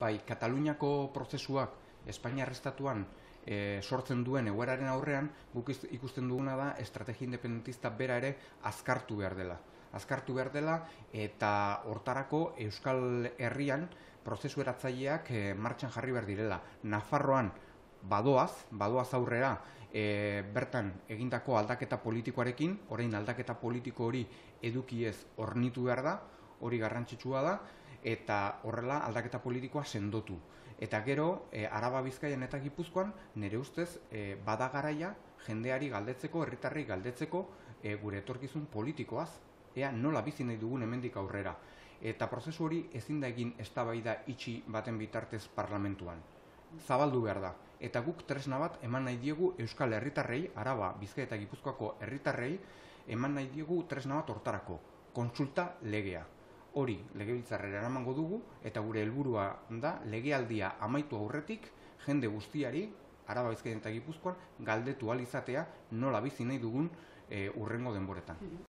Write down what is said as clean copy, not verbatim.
Bai, Kataluniako prozesuak Espainiar Estatuan sortzen duen egoeraren aurrean, guk ikusten duguna da estrategia independentista bera ere azkartu behar dela. Azkartu behar dela eta hortarako Euskal Herrian prozesu eratzaileak martxan jarri behar direla. Nafarroan badoaz aurrera bertan egindako aldaketa politikoarekin, orain aldaketa politiko hori edukiez hornitu behar da, hori garrantzitsua da, eta horrela aldaketa politikoa sendotu. Eta gero, Araba, Bizkaian eta Gipuzkoan, nire ustez, bada garaia jendeari galdetzeko, herritarrei galdetzeko gure etorkizun politikoaz, ea nola bizi nahi dugun hemendik aurrera. Eta prozesu hori ezin da egin eztabaida itxi baten bitartez parlamentuan. Zabaldu behar da. Eta guk tresna bat eman nahi diegu Euskal Herritarrei, Araba, Bizkaia eta Gipuzkoako herritarrei, eman nahi diegu tresna bat hortarako, kontsulta legea. Hori legebiltzarrera eramango dugu eta gure helburua da legealdia amaitu aurretik jende guztiari, Araba, Bizkaia eta Gipuzkoan, galdetu ahal izatea nola bizi nahi dugun hurrengo denboretan.